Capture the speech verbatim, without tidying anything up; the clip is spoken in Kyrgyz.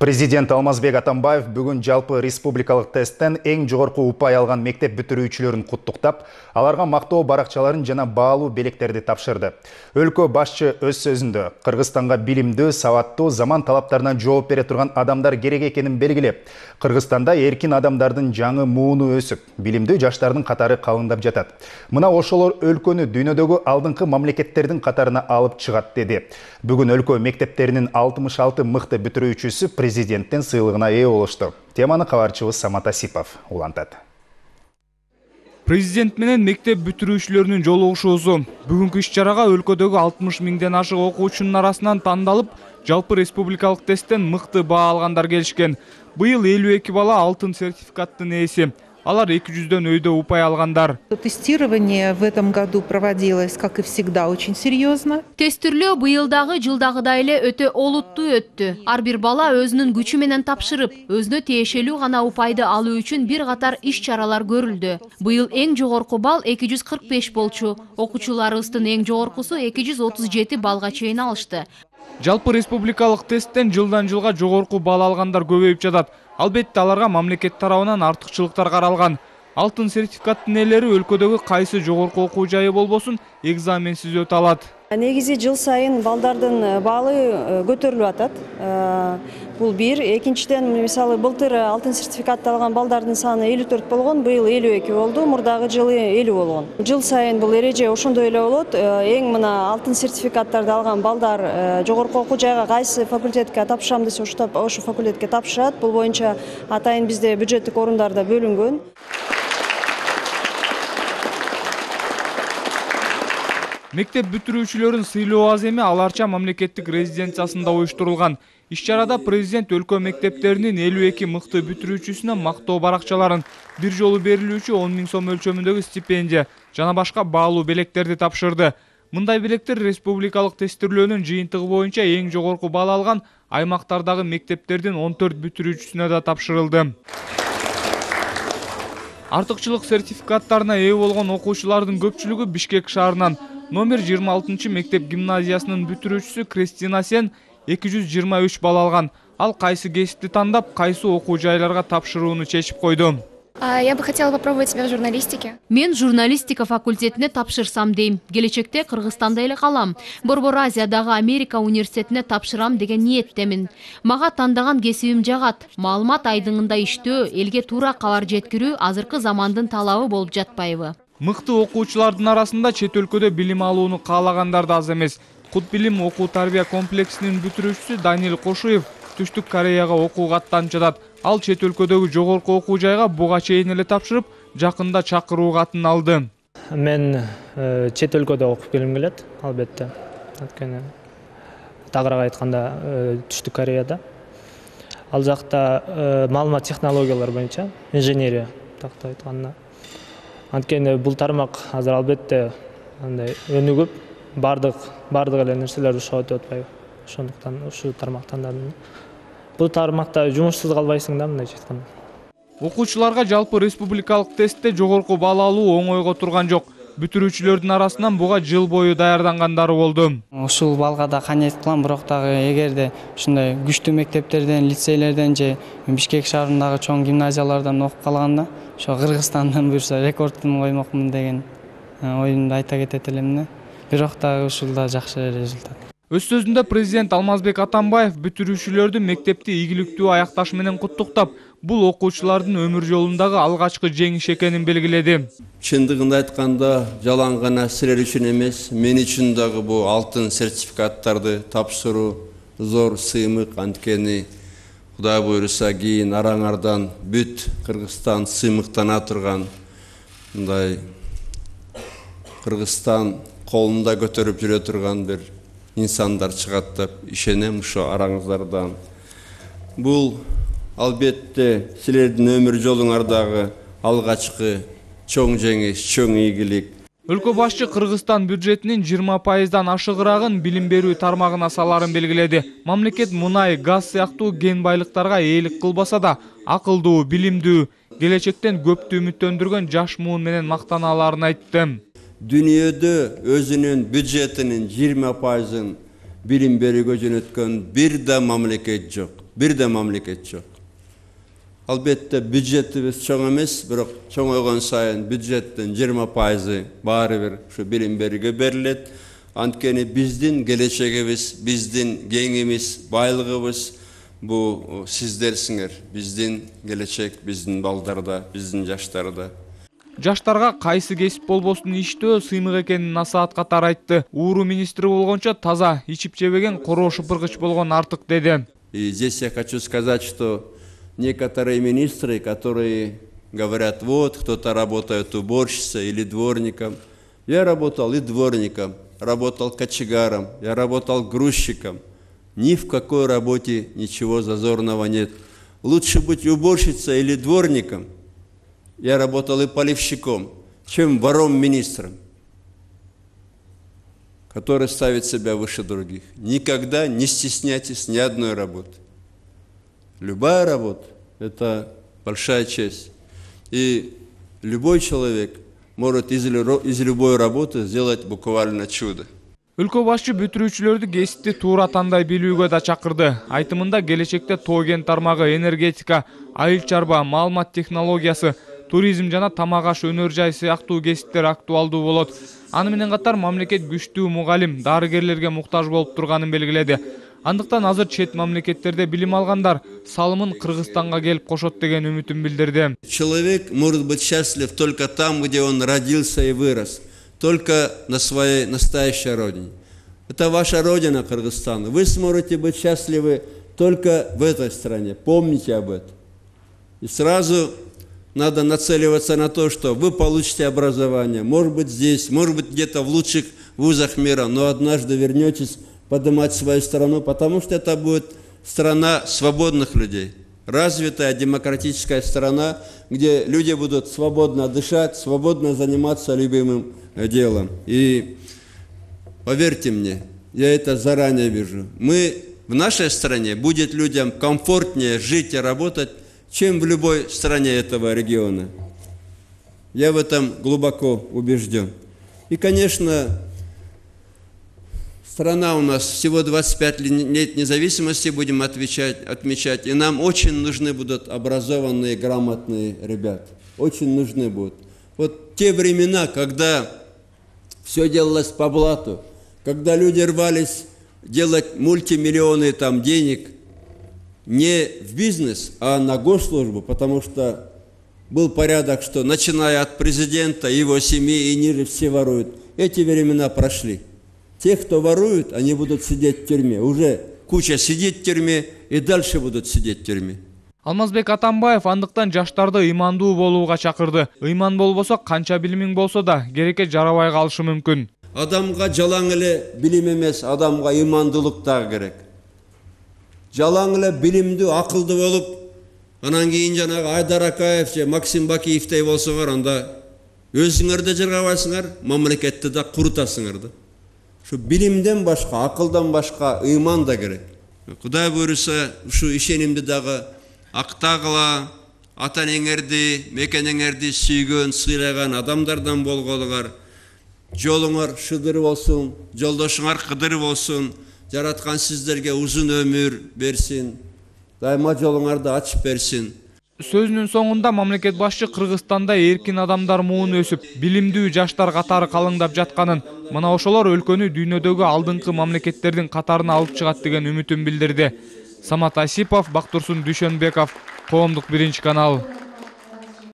Президент Алмазбек Атамбаев бүгүн жалпы республикалык тесттен эң жогорку упай алган мектеп бүтүрүүчүлөрүн куттуктап, аларга мактоо баракчаларын жана баалуу белектерди тапшырды. Өлкө башчы өз сөзүндө Кыргызстанга билимдүү, сабаттуу, заман талаптарына жооп бере турган адамдар керек экенин белгилеп, Кыргызстанда эркин адамдардын жаңы мууну өсүп, билимдүү жаштардын катары калыңдап жатат. Мына ошолор өлкөнү дүйнөдөгү алдыңкы мамлекеттердин катарына алып чыгат деди. Бүгүн өлкө мектептеринин алтымыш алты мыкты бүтүрүүчүсү президенттин сыйлыгына ээ болушту. Теманы кабарчыбыз Самат Асипов улантат. Президент менен мектеп бүтүрүүчүлөрүнүн жолугушуусу бүгүнкү иш-чарага өлкөдөгү алтымыш миңден ашык окуучунун арасынан тандалып, жалпы республикалык тесттен мыкты баа алгандар келишкен. Быйыл элүү эки бала алтын сертификаттын ээси. Алар эки жүздөн өйдө упай алгандар. Тестирование в этом году проводилось, как и всегда, очень серьезно. Тестирлөө быйылдагы жылдагыдай эле өтө олуттуу өттү. Ар бир бала өзүнүн күчү менен тапшырып, өзүнө тиешелүү гана упайды алуу үчүн бир катар иш-чаралар көрүлдү. Быйыл эң жогорку балл эки жүз кырк беш болчу. Окуучуларыбыздын эң жогоркусу эки жүз отуз жети баллга чейин алышты. Жалпы республикалык тесттен жылдан жылга жогорку балл алгандар көбөйүп жатат. Албетте аларга мамлекет тарабынан артыкчылыктар каралган. Алтын сертификаттын ээлери өлкөдөгү кайсы жогорку окуу жайы болбосун экзаменсиз өтө алат. Негизи жыл сайын балдардын баалы көтөрүлүп атат. Бул бир. Экинчиден, мисалы, былтыр алтын сертификатты алган балдардын саны элүү төрт болгон, быйыл элүү эки болду, мурдагы жылы элүү болгон. Жыл сайын бул эреже ошондой эле болот. Эң мына алтын сертификаттарды алган балдар жогорку окуу жайга кайсы факультетке тапшырам десе, ошо факультетке тапшырат. Бул боюнча атайын бизде бюджеттик орундар да бөлүнгөн. Мектеп бүтүрүүчүлөрүн сыйлоо аз эми аларча мамлекеттик резиденциясында уюштурулган. Иш-чарада президент өлкө мектептеринин элүү эки мыкты бүтүрүүчүсүнө мактоо баракчаларын, бир жолу берилүүчү он миң сом өлчөмүндөгү стипендия жана башка баалуу белектерди тапшырды. Мындай белектер республикалык тестирлөөнүн жыйынтыгы боюнча эң жогорку балл алган аймактардагы мектептердин он төрт бүтүрүүчүсүнө да тапшырылды. Артыкчылык сертификаттарына ээ болгон окуучулардын көпчүлүгү Бишкек шаарынан. Номер жыйырма алтынчы мектеп гимназиясынын бүтүрүүчүсү Кристина Сен эки жүз жыйырма үч балл алган. Ал кайсы кесипти тандап, кайсы окуу жайларга тапшырууну чечип койду. Я бы хотела попробовать себя в журналистике. Мен журналистика факультетине тапшырсам дейм. Келечекте Кыргызстанда эле калам. Борбор Азиядагы Америка университетине тапшырам деген ниеттемин. Мага тандаган кесибим жагат. Маалымат айдыңында иштөө, элге туура кабар жеткирүү азыркы замандын талабы болуп жатпайбы? Мыкты окуучулардын арасында чет өлкөдө билим алууну каалагандар да аз эмес. Кут билим окуу тарбия комплексинин бүтүрүүчүсү Данил Кошуев Түштүк Кореяга окууга аттанып жатат. Ал чет өлкөдөгү жогорку окуу жайга буга чейин эле тапшырып, жакында чакыруу катын алды. Мен чет өлкөдө окуп келгим келет, албетте. Анткени тагыраак айтканда Түштүк Кореяда. Ал жакта маалымат технологиялар боюнча инженерия тактап айтканда. Анткени бул тармак азыр албетте андай өнүгүп, бардык бардык эле нерселер ушуга өтүп атпайбы. Ошондуктан ушу тармакты тандадым. Бул тармакта жумушсуз калбайсың да, мындайча айтканда. Окуучуларга жалпы республикалык тестте жогорку балл алуу оңойго турган жок. Бүтүрүүчүлөрдүн арасынан буга жыл бою даярдангандары болду. Ушул балга да канет кылам, бирок дагы эгерде ушундай күчтүү мектептерден, лицейлерден же Бишкек шаарындагы чоң гимназиялардан окуп калганда, ошо Кыргызстандан буюрса рекордун коймокмун деген оюмду айта кетет элем. Бирок дагы ушул да жакшы результат. Өз сөзүндө президент Алмазбек Атамбаев бүтүрүүчүлөрдү мектепти ийгиликтүү аякташ менен куттуктап, бул окуучулардын өмүр жолундагы алгачкы жеңиш экенин белгиледи. Чындыгында айтканда, жалаң гана силер үчүн эмес, мен үчүн дагы бул алтын сертификаттарды тапшыруу зор сыймык. Анткени Кудай буйруса кийин араңардан бүт Кыргызстан сыймыктана турган, мындай Кыргызстан колунда көтөрүп жүрө турган бир инсандар чыгат деп ишенем ошо араңыздардан. Бул албетте силердин өмүр жолуңардагы алгачкы чоң жеңиш, чоң ийгилик. Өлкө башчы Кыргызстан бюджетинин жыйырма пайыздан ашыгыраагын билим берүү тармагына саларын белгиледи. Мамлекет мунай, газ сыяктуу кен байлыктарга ээлик кылбаса да, акылдуу, билимдүү, келечектен көптү үмүттөндүргөн жаш муун менен мактана аларын айтты. Дүйнөдө өзүнүн бюджетинин жыйырма пайызын билим берүүгө жөнөткөн бир да мамлекет жок. бир да мамлекет жок. Албетте бюджетибиз чоң эмес, бирок чоңойгон сайын бюджеттин жыйырма пайызы баары бир ушу билим берүүгө берилет. Анткени биздин келечегибиз, биздин кеңимиз, байлыгыбыз бу сиздерсиңер. Биздин келечек, биздин балдарда, биздин жаштарда. Жаштарга кайсы кесип болбосун иштөө сыймык экенин насаат катары айтты. Ууру министри болгончо таза, ичип жебеген, короо шыпыргыч болгон артык деди. И здесь я хочу сказать, что некоторые министры, которые говорят, вот, кто-то работает уборщицей или дворником. Я работал и дворником, работал кочегаром, я работал грузчиком. Ни в какой работе ничего зазорного нет. Лучше быть уборщицей или дворником, я работал и поливщиком, чем вором-министром, который ставит себя выше других. Никогда не стесняйтесь ни одной работы. Любая работа – это большая честь. И любой человек может из любой работы сделать буквально чудо. Өлкө башчы бүтүрүүчүлөрдү кесипти туура тандай билүүгө да чакырды. Айтымында келечекте тоо кен тармагы, энергетика, айыл чарба, маалымат технологиясы, туризм жана тамак аш өнөр жай сыяктуу кесиптер актуалдуу болот. Аны менен катар мамлекет күчтүү мугалим, дарыгерлерге муктаж болуп турганын белгиледи. Андыктан азыр чет мамлекеттерде билим алгандар салымын Кыргызстанга келип кошот деген үмүтүн билдирди. Человек может быть счастлив только там, где он родился и вырос. Только на своей настоящей родине. Это ваша родина, Кыргызстан. Вы сможете быть счастливы только в этой стране. Помните об этом. И сразу надо нацеливаться на то, что вы получите образование. Может быть здесь, может быть где-то в лучших вузах мира, но однажды вернетесь поднимать свою страну, потому что это будет страна свободных людей. Развитая демократическая страна, где люди будут свободно дышать, свободно заниматься любимым делом. И поверьте мне, я это заранее вижу. Мы в нашей стране будет людям комфортнее жить и работать, чем в любой стране этого региона. Я в этом глубоко убежден. И, конечно, страна у нас всего двадцать пять лет независимости будем отвечать, отмечать, и нам очень нужны будут образованные, грамотные ребята. Очень нужны будут. Вот те времена, когда все делалось по блату, когда люди рвались делать мультимиллионы там денег не в бизнес, а на госслужбу, потому что был порядок, что начиная от президента, его семьи и ниже все воруют. Эти времена прошли. Те, кто воруют, они будут сидеть в тюрьме. Уже куча сидит в тюрьме и дальше будут сидеть в тюрьме. Алмазбек Атамбаев андыктан жаштарды ыймандуу болууга чакырды. Ыйман болбосо канча билимиң болсо да керекке жарабай калышы мүмкүн. Адамга жалаң эле билим эмес, адамга ыймандуулук дагы керек. Жалаң эле билимдүү, акылдуу болуп, анан кийин жанагы Айдар Акаев же Максим Бакиевдей болсоңор, анда өзүңөр да жарабайсыңар, мамлекетти да курутасыңар да. Şu bilimden başka, akıldan başka iman da gerek. Kuday buyursa şu işenimde dağı aktağıla, atan eňerdi, meken eňerdi süýgön, sıylagan adamlardan bolgodular. Joluňar şıdır bolsun, joldoşuňar kıdır bolsun. Jaratkan sizlerge uzun ömür bersin. Daima joluňardy açıp bersin. Сөзүнүн соңунда мамлекет башчы Кыргызстанда эркин адамдар муун өсүп, билимдүү жаштар катары калыңдап жатканын, мына ошолор өлкөнү дүйнөдөгү алдыңкы мамлекеттердин катарына алып чыгат деген үмүтүн билдирди. Самат Асипов, Бактурсун Дүйшөнбеков, Коомдук биринчи канал.